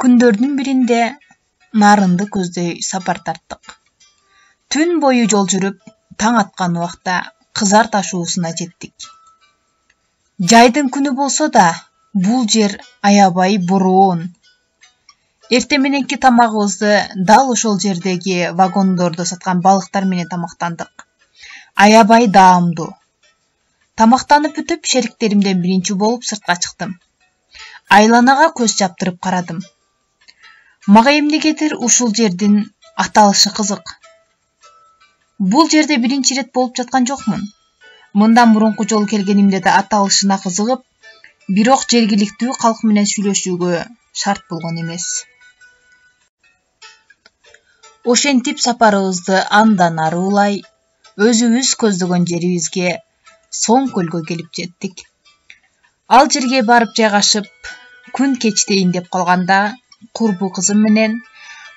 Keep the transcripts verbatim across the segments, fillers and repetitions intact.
Күндөрдүн биринде нарынды көздөй сапар тарттык. Түн бою жол жүрүп, таң аткан убакта Кызар Таш уусуна жеттик. Жайдын күнү болсо да, бул жер аябай бороон. Эртең мененки тамагыбызды дал ошол жердеги вагондордо саткан балыктар менен тамактандык. Аябай даамдуу. Тамактанып бүтүп, шериктеримден биринчи болуп сыртка чыктым. Айланага көз чаптырып карадым. Мага эмнегедир ушул жердин аталышы кызык. Бул жерде биринчи ирет болуп жаткан жокмун. Мындан мурунку жолу келгенимде да аталышына кызыгып, бирок жергиликтүү калк менен сүйлөшүүгө шарт болгон эмес. Ошентип сапарыбызды андан ары улай, өзүбүз көздөгөн жерибизге Соң көлгө келип жеттик. Ал жерге барып жайгашып, күн кечтейин деп калганда, курбу кызым менен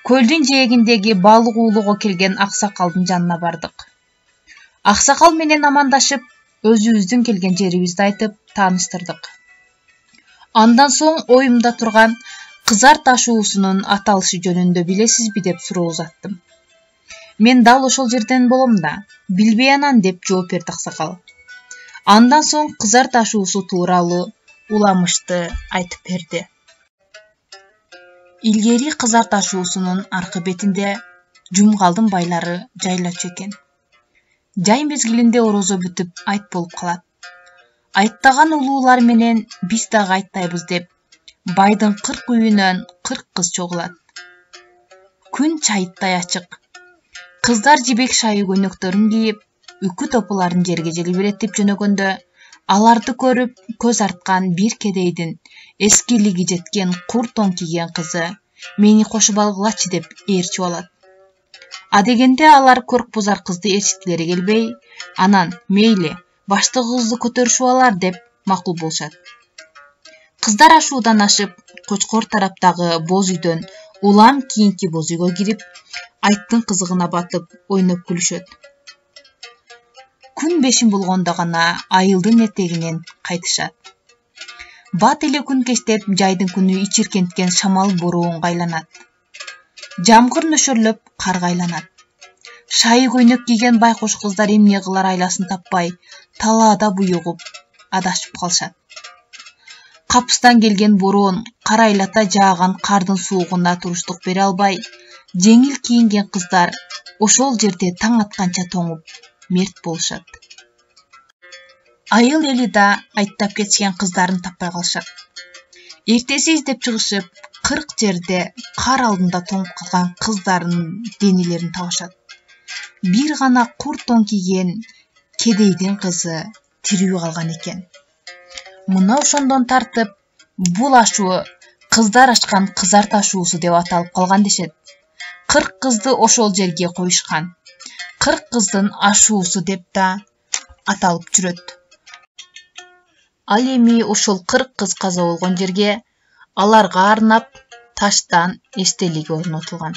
көлдүн жээгиндеги балык уулоого келген аксакалдын жанына бардык. Аксакал менен амандашып, өзүбүздүн келген жерибизди айтып, тааныштырдык. Андан соң оюмда турган Кызар Таш уусунун аталышы жөнүндө билесизби деп суроо узаттым. Мен дал ошол жерден болом да, билбей анан деп жооп берди аксакал. Андан соң Кызар Таш уусу тууралуу уламышты айтып берди. Илгери Кызар Таш уусунун аркы бетинде Жумгалдын байлары жайлачу экен. Жай мезгилинде орозо бүтүп, айт болуп калат. Айттаган улуулар менен биз дагы айттайбыз деп, байдын кырк үйүнөн кырк кыз чогулат. Күн чайыттай ачык. Кыздар жибек шайы көйнөктөрүн кийип, үкү топуларын жерге желбиреттип жөнөгөндө, аларды көрүп көз арткан бир кедейдин эскилиги жеткен кур тон кийген кызы мени кошуп алгылачы деп ээрчип алат. А дегенде алар көркбузар кызды ээрчиткилери келбей, анан мейли, баштагыбызды көтөрүшүп алар деп макул болушат. Кыздар ашуудан ашып, Кочкор тараптагы боз үйдөн улам кийинки боз үйгө кирип, айттын кызыгына батып, ойноп күлүшөт. Күн бешин болгондо гана айылдын этегинен кайтышат. Бат эле күн кечтеп, жайдын күнү ичиркенткен шамал бороонго айланат. Жамгыр нөшөрлөп, карга айланат. Шайы көйнөк кийген байкуш кыздар эмне кылар айласын таппай, талаада буюгуп, адашып калышат. Капыстан келген бороон карайлата жааган кардын суугуна туруштук бере албай, жеңил кийинген кыздар ошол жерде таң атканча тоңуп, мерт болушат. Айыл эли да айттап кетишкен кыздарын таппай калышат. Эртеси издеп чыгышып, кырк жерде кар алдында тоңуп калган кыздардын денелерин табышат. Бир гана кур тон кийген кедейдин кызы тирүү калган экен. Мына ошондон тартып, бул ашуу Кыздар ашкан Кызар Таш уусу деп аталып калган дешет. Кырк кызды ошол жерге коюшкан. Кырк кыздын ашуусу деп да аталып жүрөт. Ал эми ошол кырк кыз каза болгон жерге аларга арнап таштан эстелик орнотулган.